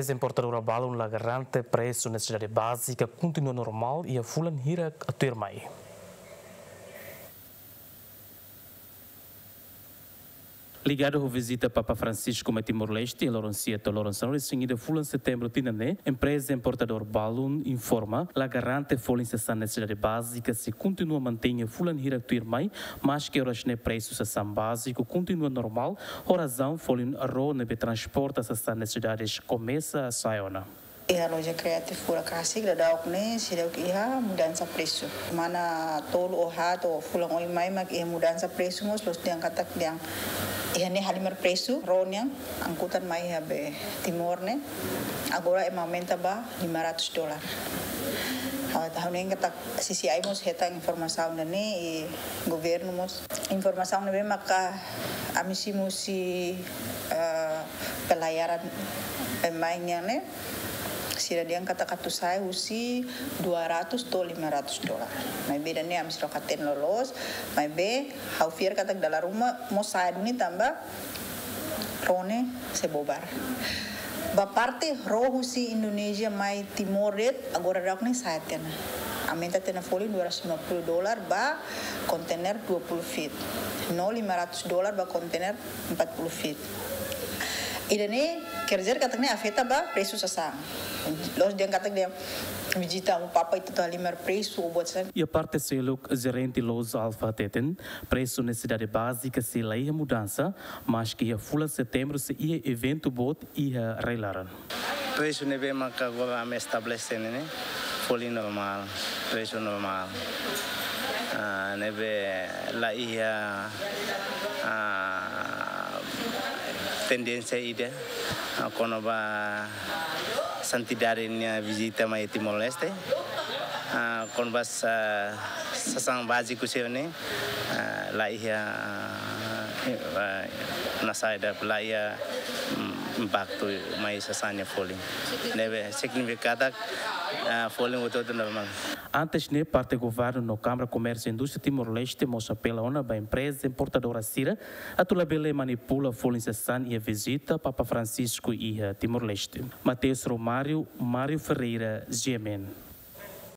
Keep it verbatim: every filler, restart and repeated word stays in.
Empreza importadora balun la garante presu nesesidade bázika kontinua normál iha fulan hirak tuirmai. Ligadu ho vizita Papa Francisco mai Timor-Leste, loron sia to'o loron sanulu-resin-ida fulan setembru tinan ne'e, empreza importadora balun informa la garante folin sasán nesesidade bázika sei kontinua mantein iha fulan hirak tuirmai, maske oras ne'e presu sasán báziku kontinua normál, ho razaun folin ró ne'ebé transporta sasán nesesidade komesa sa'e ona. Iha loja Creative Furakasik daudaun ne'e seidauk iha mudansa presu. Mana tolu ou haat ou fulan oin mai mak iha mudansa presu mós, loos dehan katak dehan iha ne'e halimar presu ró nian angkutan mai iha be Timor ne'e. Agora ema aumenta ba lima ratus dolar. Ha'u, ha'u hanoin katak C C I mós hetan informasaun ida-ne'e, i governu mós. Informasaun ne'ebé maka ami simu husi, eh, pelayaran pemain nian ne'e. Sira dehan katak atu sa'e husi dua ratus to'o lima ratus dolar. Maibé ida-ne'e ami seidauk hatene loloos, maibé ha'u fiar katak dala ruma mós sa'e duni tanba ró ne'e sei bobar. Ba parte ró husi Indonézia mai Timor de'it, agora daudaun ne'e sa'e tiha ona. Aumenta tiha ona folin dua ratus lima puluh dolar ba kontainer dua puluh feet. No lima ratus dolar ba kontainer empat puluh feet. Ida-ne'e, quer dizer, katak ne'e afeta ba presu sasán. Loos dehan katak dehan vizita Amu Papa ita atu halimar presu ou buat sasán. Iha parte seluk, jerente loja Alfa hateten, presu nesesidade bázika sei la iha mudansa, maske iha fulan setembru sei iha eventu boot iha rai-laran. Presu ne'ebé maka agora ami estabelese ne'e, ne'e folin normál, presu normál. Ah, ne'ebé la iha, ah, tendénsia ida, ah, kona-ba Santidade nia vizita mai Timor-Leste. Ah, kona-ba sa-, sasán báziku sira-ne'e, ah, la iha, ah, na saida la iha, mm, impaktu mai sasán nia folin. Ne'ebé signifika katak, ah, folin hotu-hotu normál. Antes ne'e, parte governu no Kámara Komérsiu Indústria Timor-Leste mós apela ona ba empreza importadora sira atu labele manipula folin sasán iha vizita Papa Francisco iha Timor-Leste. Mateus Romário, Mário Ferreira, G M N.